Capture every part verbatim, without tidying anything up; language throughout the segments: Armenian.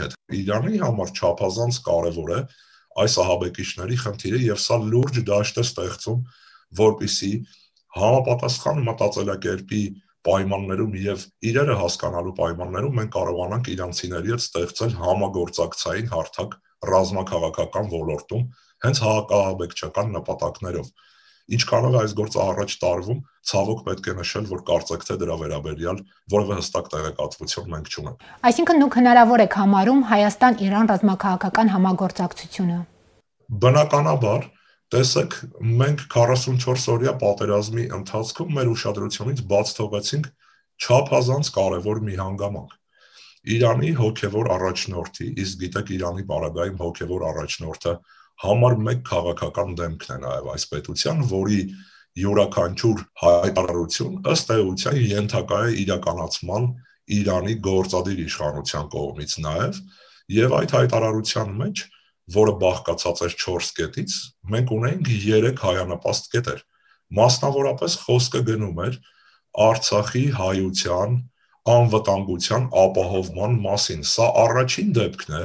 հետ։ Իրանի համար չափազանց կարևոր է այս ահաբեկիչների խնդիրը եւ սա լուրջ դաշտ է ստեղծում, որպեսզի համապատասխան մտածելակերպի պայմաններում եւ իրերը հասկանալու պայմաններում մենք կարողանանք իրանցիների հետ ստեղծել համագործակցային հարթակ ռազմաքաղաքական ոլորտում հենց հակաահաբեկչական նպատակներով։ Ինչքանով է այս գործը առաջ տարվում, ցավոք պետք է նշել, որ կարծեք թե դրա վերաբերյալ որևէ հստակ տեղեկատվություն մենք չունենք։ Այսինքն դուք հնարավոր եք համարում Հայաստան-Իրան ռազմաքաղաքական համագործակցությունը։ Բնականաբար, տեսեք, մենք քառասունչորս օրյա պատերազմի ընթացքում մեր ուշադրությունից բաց թողեցինք չափազանց կարևոր մի հանգամանք։ Իրանի հոգևոր առաջնորդի, իսկ գիտեք Իրանի պարագայում հոգևոր առաջնորդը համար մեկ քաղաքական դեմքն է նաև այս պետության, որի յուրաքանչյուր հայտարարություն ըստ էության ենթակա է իրականացման Իրանի գործադիր իշխանության կողմից նաև, եւ այդ հայտարարության մեջ, որը բաղկացած էր չորս կետից, մենք ունենք երեք հայանպաստ կետեր։ Մասնավորապես խոսքը գնում էր Արցախի հայության անվտանգության ապահովման մասին։ Սա առաջին դեպքն է,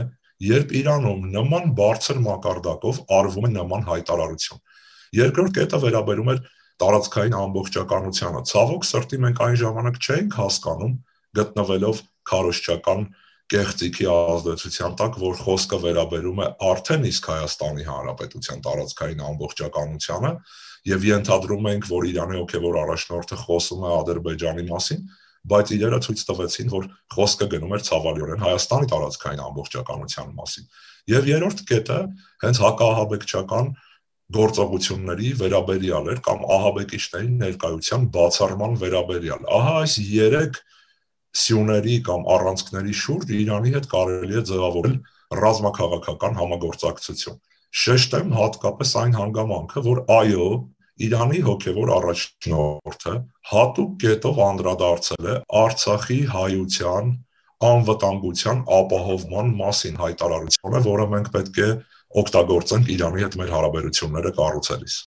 երբ Իրանում նման բարձր մակարդակով արվում է նման հայտարարություն։ Երկրորդ կետը վերաբերում էր տարածքային ամբողջականությանը։ Ցավոք սրտի մենք այն ժամանակ չէինք հասկանում, գտնվելով քարոզչական կեղծիքի ազդեցության տակ, որ խոսքը վերաբերում է արդեն իսկ Հայաստանի Հանրապետության տարածքային ամբողջականությանը, եւ ենթադրում ենք, որ Իրանի հոգևոր առաջնորդը խոսում է Ադրբեջանի մասին, բայց իրերը ցույց տվեցին, որ խոսքը գնում էր ցավալիորեն Հայաստանի տարածքային ամբողջականության մասին։ Եվ երրորդ կետը հենց հակաահաբեկչական գործողությունների վերաբերյալ էր կամ ահաբեկիչների ներկայության բացառման վերաբերյալ։ Ահա այս երեք սյուների կամ առանցքների շուրջ Իրանի հետ կարելի է ձևավորել ռազմաքաղաքական համագործակցություն։ Շեշտեմ հատկապես այն հանգամանքը, որ այո, Իրանի հոգևոր առաջնորդը հատուկ կետով անդրադարձել է Արցախի հայության անվտանգության ապահովման մասին հայտարարությունը, որը մենք պետք է օգտագործենք Իրանի հետ մեր հարաբերությունները կառուցելիս։